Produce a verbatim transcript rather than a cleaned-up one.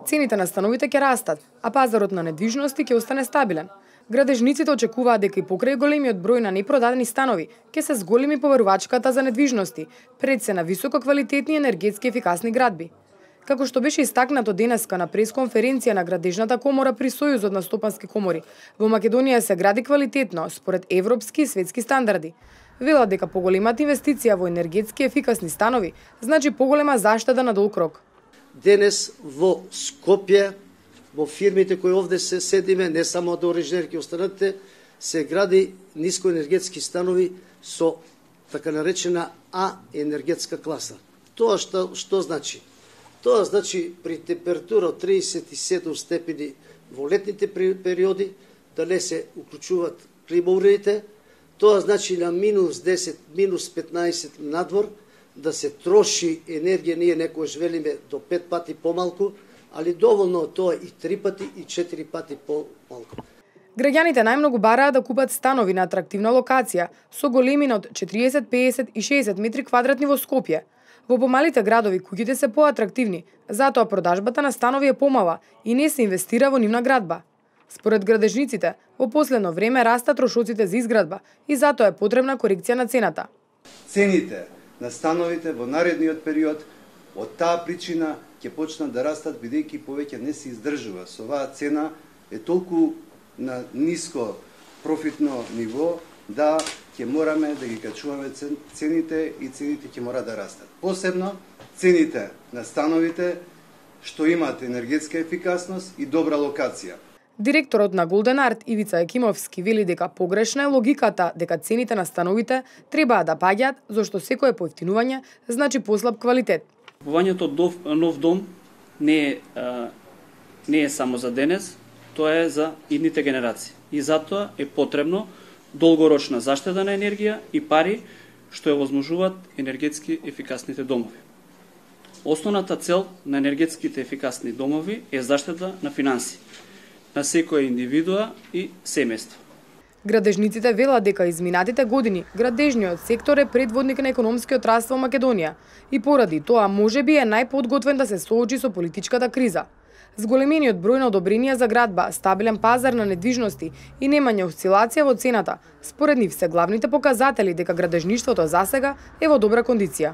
Цените на становите ќе растат, а пазарот на недвижности ќе остане стабилен. Градежниците очекуваат дека и покрај големиот број на непродадени станови ќе се зголеми поверувачката за недвижности, пред се на висококвалитетни енергетски ефикасни градби. Како што беше истакнато денеска на пресконференција на Градежната комора при Сојузот на стопански комори, во Македонија се гради квалитетно според европски и светски стандарди. Велат дека поголемата инвестиција во енергетски ефикасни станови значи поголема заштеда на долг рок. Денес во Скопје, во фирмите кои овде се седиме, не само до орижнерки останатите, се гради нискоенергетски станови со така наречена А енергетска класа. Тоа што, што значи? Тоа значи при температура од триесет и седум степени во летните периоди да не се уклучуваат климауредите. Тоа значи на минус десет, минус петнаесет надвор да се троши енергија, ние некојаш велиме до пет пати помалку, али доволно тоа и три пати и четири пати помалку. Граѓаните најмногу бараат да купат станови на атрактивна локација со големина од четириесет, пеесет и шеесет метри квадратни во Скопје. Во помалите градови куќите се поатрактивни, затоа продажбата на станови е помала и не се инвестира во нивна градба. Според градежниците, во последно време растат трошоците за изградба и затоа е потребна корекција на цената. Цените на становите во наредниот период од таа причина ќе почнат да растат бидејќи повеќе не се издржува. Со оваа цена е толку на ниско профитно ниво да ќе мораме да ги качуваме цените и цените ќе мора да растат. Посебно цените на становите што имаат енергетска ефикасност и добра локација. Директорот на Голден Арт Ивица Екимовски вели дека погрешна е логиката дека цените на становите требаа да паѓаат зашто секое поевтинување значи послаб квалитет. Купувањето од нов дом не е, а, не е само за денес, тоа е за идните генерации. И затоа е потребно долгорочна заштеда на енергија и пари што ја возможуваат енергетски ефикасните домови. Основната цел на енергетските ефикасни домови е заштеда на финанси на секоја индивидуа и семејство. Градежниците велат дека изминатите години градежниот сектор е предводник на економскиот раст во Македонија и поради тоа можеби е најподготвен да се соочи со политичката криза. Зголемениот број на одобренија за градба, стабилен пазар на недвижности и немање осцилација во цената, според нив се главните показатели дека градежништвото засега е во добра кондиција.